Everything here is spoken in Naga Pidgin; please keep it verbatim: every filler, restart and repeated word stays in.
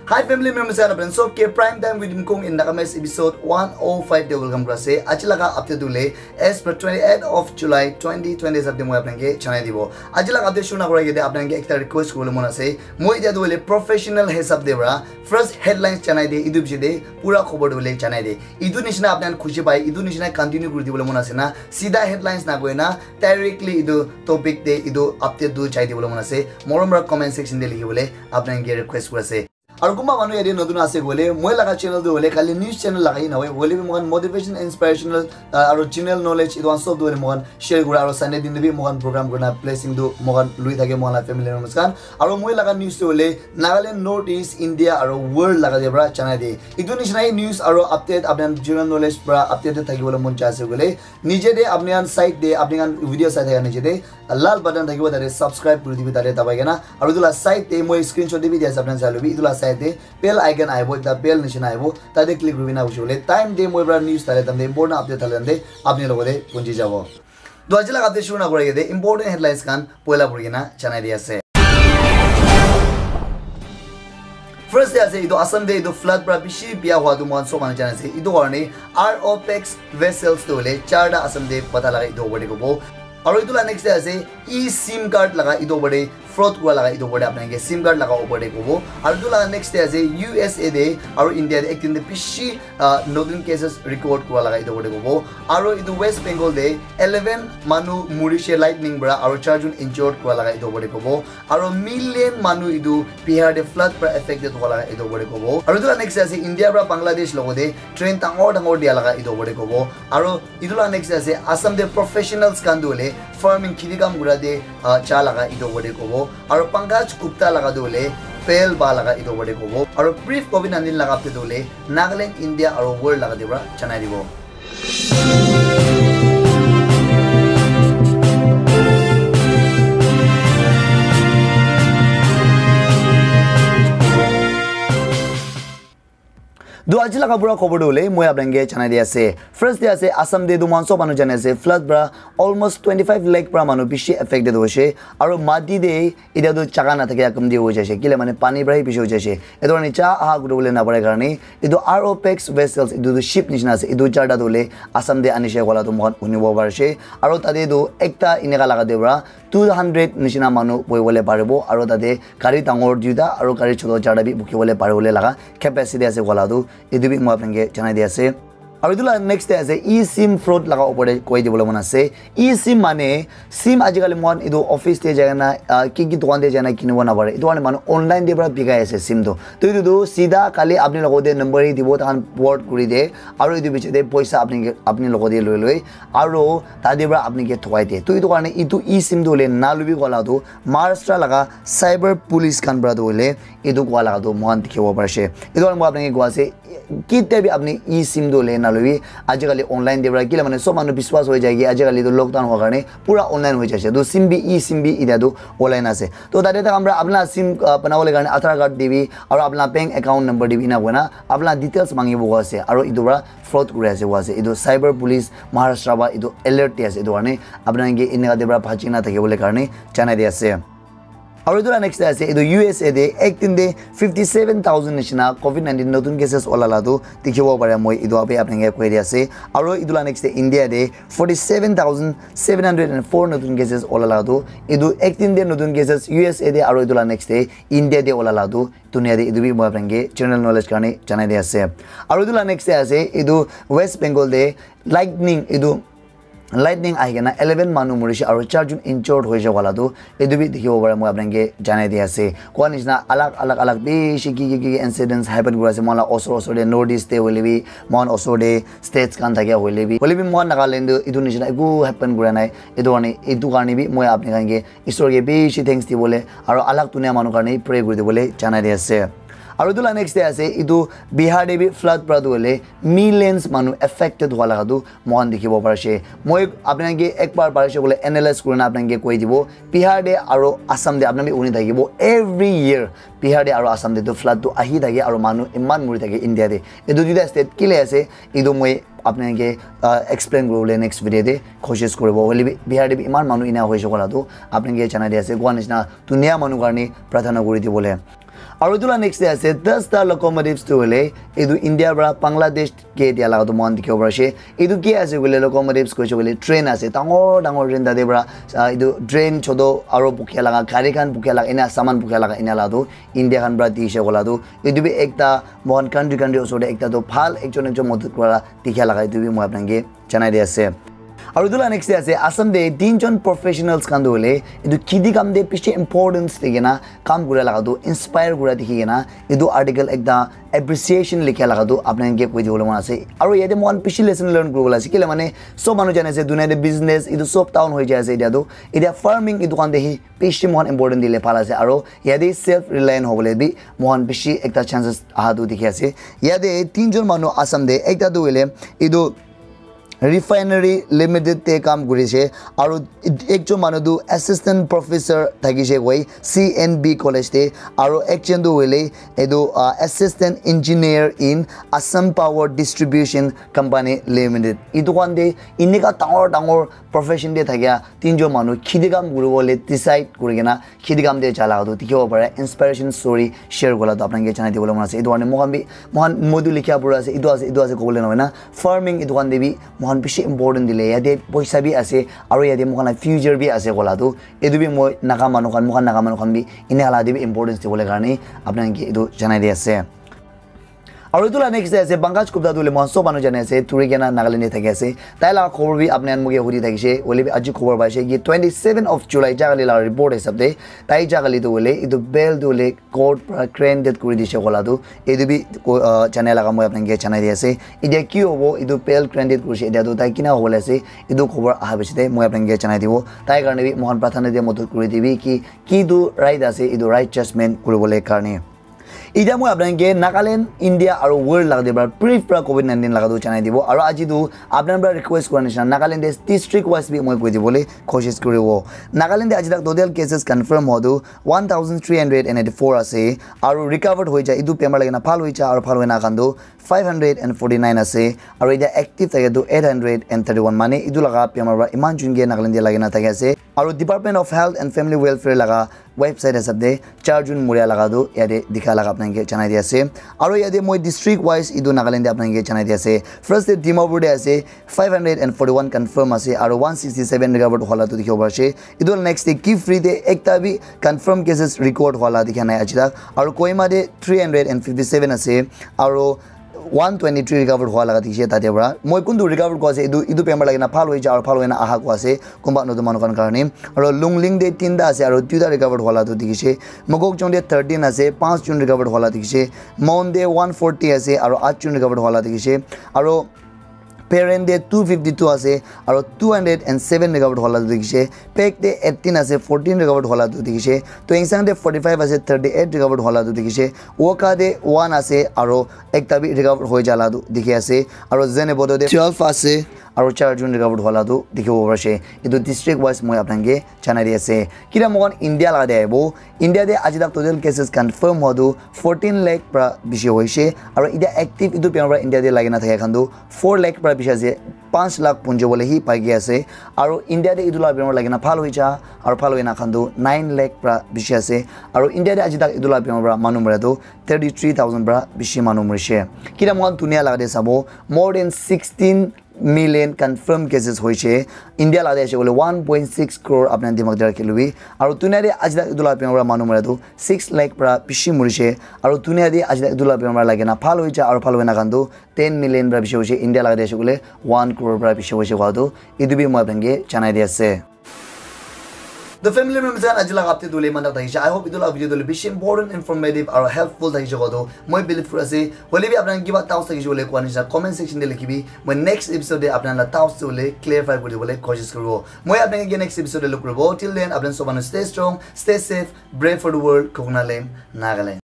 Hi family members and friends, so ke Prime Time with Mkong in Nagamese episode one oh five de welcome kura ase. Aji laga update tu le as per twenty-eight of July twenty twenty hisab de moi apnai ke janai dibo. Aji laga update shuru na kura ke de apnai ke ekta request kuribole mon ase. Moi etia tu le professional hisab de pra first headlines janai de, etu bishi de pura khobor tu le janai de. Etu nishina apnai khushi pai, etu nishina continue kuri dibole mon ase na, sida headlines na koi na directly etu topic de etu update tu jai dibole mon ase. Morom pra comment section de likhi bole apnai ke request kuri ase. Aru kunba manu yate notun ase koile, moi laga channel tu hoile khali news channel lagai na hoi, hoile bi moikhan motivation, inspirational, ah, aru general knowledge etu khan sob tu hoile moikhan share kura, aru Sunday din tu bi moikhan program kurina blessing tu moikhan lui thake moikhan la family members khan. Aru moi laga news tu hoile Nagaland, North East, India aru world laga de pra janai de. Etu nishina hi news aru update, apni khan general knowledge pra update thakibole mon jai ase koile, nije de apni khan side de, apni khan video sai thaka nije de lal button thakibo, tate subscribe kuri dibi, tate dabai kena. Aru etu la side te moi screenshot te bi dia ase, apni khan sai lobi. Etu la side te bell icon ahibo, ekta bell nishina ahibo, tate click kuri kena huishe koile time te moi pra news thale time te, important update thale time te apni logote punji jabo. To aji laga update shuru na kura ke de important headlines khan poila puri kena janai di ase. First te ase, etu Assam te etu flood pra bishi bia hua tu moikhan sob manu jana ase. Etu karne R O Pax vessels tu hoile charta Assam te pata laga etu opor te kobo. Aru etu la next te ase, e-SIM card laga etu opor te fraud kura laga etu opor te apni ke SIM card laga opor te kobo. Aru etu la next te ase, U S A te aru India te ek din te bishi, ah, notun cases record kura laga etu opor te kobo. Aru etu West Bengal te eleven manu murishe lightning pra aru charjon injured kura laga etu opor te kobo. Aru million manu etu Bihar te flood pra affected hua laga etu opor te kobo. Aru etu la next te ase, India pra Bangladesh logote train dangor dangor dia laga etu opor te kobo. Aru etu la next te ase, Assam te professionals khan tu hoile farming, kheti kam kura te, ah, ja laga etu opor te kobo. Aru Pankaj Gupta laga tu hoile bail pa laga etu opor te kobo. Aru brief covid nineteen laga update tu hoile Nagaland, India aru world laga te pra janai dibo. To aji laga pura khobor tu hoile moi apnai ke janai di ase. First te ase, Assam te tu moikhan sob manu jani ase, flood pra almost twenty five lakh pra manu bishi affected hoise. Aru mati te etia tu jaga na thake, ekdum de hoi jaise, kile mane pani pra hi bishi hoi jaise. Etu karne ja aha kuri bole na pare karne etu R O Pax vessels, etu tu ship nishina ase, etu charta tu hoile Assam te anishe kola tu moikhan hunibo parise. Aru tate tu ekta eneka laga te pra two hundred nishina manu bohi bole paribo, aru tate gari dangor duita aru gari choto charta bi bukhi bole pari bole laga capacity ase kola tu, etu bi moi apni ke janai di ase. Aru etu la next te ase, e-SIM fraud laga opor te koi dibole mon ase. E-SIM mane SIM ajikali moikhan etu office te jai kena, ah, ki ki dukan te jai kena kinibo napare. Etu karne manu online te pra bikai ase SIM tu. To etu tu sida khali apni logote number hi dibo, tahan port kuri de. Aru etu piche te poisa apni ke, apni logote loi loi. Aru tate pra apni ke thukai de. To etu karne etu e-SIM tu hoile na lobi kola tu Maharashtra laga cyber police khan pra tu hoile etu koa laga tu moikhan dikhibo parise. Etu karne moi apni ke koa ase, kitia bi apni e-SIM tu hoile na lobi. Ajikali online te pra kile mane sob manu biswas hoi jai ki, ajikali tu lockdown hua karne pura online hoi jaise. To SIM bi, e-SIM bi etia tu online ase. To tate tak amra apna SIM, ah, banabole karne Aadhaar card dibi aru apna bank account number dibi, ena koina apna details mangibo koa ase. Aru etu pra fraud kuri ase koa ase. Etu cyber police Maharashtra pra etu alert di ase. Etu karne apna ke eneka te pra bhaji na thakibole karne janai di ase. Aru etu la next te ase, etu U S A te ek din te fifty seven thousand nishina covid nineteen notun cases ola la tu dikhibo pare, moi etu abe apni ke koi di ase. Aru etu la next te India te forty seven thousand seven hundred and four notun cases ola la tu, etu ek din te notun cases U S A te aru etu la next te India te ola la tu dunia te etu bi moi apni ke general knowledge karne janai di ase. Aru etu la next te ase, etu West Bengal te lightning, etu lightning ahi kena eleven manu murishe aru charjon injured hoise koa la tu etu bi dikhibo pare, moi apni ke janai di ase. Koa nishina alag alag alag bishi ki ki ki incidents happen kuri ase moikhan la osor osor te, North East te hoile bi, moikhan osor te states khan thake hoile bi, hoile bi moikhan Nagaland te etu nishina eku happen kura nai. Etu karne, etu karne bi moi apni khan ke Isor ke bishi thanks dibole aru alag dunia manu karne pray kuri dibole janai di ase. Aru etu la next te ase, etu Bihar te bi flood pra tu hoile millions manu affected hua laga tu moikhan dikhibo parise. Moi apni khan ke ek bar parise koile analyze kurina apni khan ke koi dibo. Bihar te aru Assam te apni khan bi huni thakibo, every year Bihar te aru Assam te tu flood tu ahi thake aru manu iman muri thake India te. Etu duita state kile ase, etu moi apni khan ke, ah, explain kuribole next video te koshish kuribo. Hoile bi Bihar te bi iman manu ena hoise koa la tu apni khan ke janai di ase. Koa nishina dunia manu karne prarthana kuri dibole. Aru etu la next te ase ten ta locomotives tu hoile etu India para Bangladesh ke dia laga tu moikhan dikhibo pari ase. Etu ke ase koile locomotives koise koile train ase, dangor dangor train tate para, ah, etu train choto aru bukia laga, gari khan bukia laga, ena saman bukia laga ena la tu India khan para dise kola tu. Etu bi ekta moikhan country country osor te ekta tu bhal ekjon ekjon modot kura dikha laga etu bi moi apnang ke janai di ase. Aru etu la next te ase Assam te tinjon professionals khan tu hoile etu kheti kam te bishi importance di kena kam kura laga tu inspire kura dikhi kena etu article ekta appreciation likha laga tu apnang ke koi dibole mon ase. Aru yate moikhan bishi lesson learn kuribole ase kile mane sob manu jane ase dunia te business etu sob down hoi jai ase etia tu. Etia farming etu khan te hi bishi moikhan important dile bhal ase. Aru yate self reliant hobole bi moikhan bishi ekta chances aha tu dikhi ase. Yate tinjon manu Assam te ekta tu hoile etu refinery limited te kam kuri ase aru ekjon manu tu assistant professor thaki ase koi C N B college te aru ekjon tu hoile etu ah, assistant engineer in Assam Power Distribution Company Limited. Etu khan te enika dangor dangor profession te thakia tinjon manu kheti kam kuribole decide kuri kena kheti kam te ja laga tu dikhibo pare. Inspiration story share kura la tu apnang ke janai dibole mon ase. Etu karne moikhan bi moikhan moi tu likhia pura ase, etu ase, etu ase kobole nohoi na farming etu khan te bi moikhan bishi important dile yate poisa bi ase aru yate moikhan la future bi ase kola tu etu bi moi Naga manu khan moikhan Naga manu khan bi ena la te bi importance dibole karne apnang ke etu janai di ase. Aru etu la next te ase Pankaj Gupta tu hoile moikhan sob manu jane ase, turi kena Nagaland te thaki ase. Tai la khobor bi apni khan moke hudi thakise, hoile bi aji khobor paise ki twenty seven of July jagali la report hisab te tai jagali tu hoile etu bell tu hoile court pra granted kuri dise kola tu etu bi ko- ah, janai laga moi apni ke janai di ase. Etia ki hobo etu bell granted kurise etia tu tai kina hobole ase etu khobor aha piche te moi apni ke janai dibo. Tai karne bi moikhan prathana dia modot kuri dibi ki ki tu right ase etu right judgment kuribole karne. Etia moi apnang ke Nagaland, India aru world laga te para brief para covid nineteen laga tu janai dibo. Aru aji tu apnang para request kura nishina Nagaland te district wise bi moi koi dibole koshish kuribo. Nagaland te aji tak total cases confirm hua tu one thousand three hundred and eighty four ase. Aru recovered hoi ja, etu bemar lagi na bhal hoi ja aru bhal hoi na khan tu five hundred and forty nine ase. Aru etia active thake tu eight hundred and thirty one, mane etu laga bemar para iman jun ke Nagaland te lagi na thaki ase. Aru Department of Health and Family Welfare laga website hisab te char jun muria laga tu yate dikha laga apnang ke janai di ase. Aru yate moi district wise etu Nagaland te apnang ke janai di ase. First te Dimapur te ase, five hundred and forty one confirm ase aru one sixty seven recovered hua la tu dikhibo pari ase. Etu next te Kiphire te ekta bi confirm cases record hua la dikha nai aji tak. Aru Kohima te three hundred and fifty seven ase aru one twenty three recovered hua laga dikhi ase tate para. Moi kuntu recovered koi ase, etu etu bemar lagi na bhal hoi ja aru bhal hoi na aha koi ase kunba notun manu khan karne. Aru Lungling te tinta ase aru duita recovered hua la tu dikhi ase. Mokokchung te thirteen ase, panch jun recovered hua la dikhi ase. Mon te one forty ase aru aat jun recovered hua la dikhi ase. Aru Peren te two fifty two ase aru two hundred and seven recovered hua la tu dikhi ase. Phek te eighteen ase, fourteen recovered hua la tu dikhi ase. Tuensang te forty five ase, thirty eight recovered hua la tu dikhi ase. Wokha te one ase aru ekta bi recovered hoi ja la tu dikhi ase. Aru Zunheboto te twelve ase aru char jun recovered hua la tu dikhibo pari ase. Etu district wise moi apnang ke janai di ase. Kila moikhan India laga te ahibo. India te aji tak total cases confirm hua tu fourteen lakh para bishi hoise. Aru etia active etu bemar para India te lagi na thaka khan tu four lakh para bishi ase. Panch lakh punjo bole hi pai ke ase. Aru India te etu la bemar lagi na bhal hoi ja aru bhal hoi na khan tu nine lakh para bishi ase. Aru India te aji tak etu la bemar para manu mara tu thirty three thousand para bishi manu murise. Kila moikhan dunia laga te sabo, more than sixteen million confirm cases hoise. India laga te ase koile one point six crore apni khan dimag te rakhi lobi. Aru dunia te aji tak etu la bemar para manu mara tu six lakh para bishi murise. Aru dunia te aji tak etu la bemar lagi na bhal hoi ja aru bhal hoi na khan tu ten million para bishi hoise. India laga te ase koile one crore para bishi hoise kua tu etu bi moi apni khan ke janai di ase. The family members khan aji laga update tu le iman tak thakise. I hope etu laga video tu le bishi important, informative aru helpful thakise kua tu moi believe kuri ase. Hoile bi apni khan kiba doubts thakise koile kua nishina comment section te likhibi. Moi next episode te apni khan la doubts tu le clarify kuri dibole koshish kuribo. Moi apni khan ke next episode te log kuribo. Till then apni khan sob manu stay strong, stay safe, brave for the world, Koknaland, Nagaland.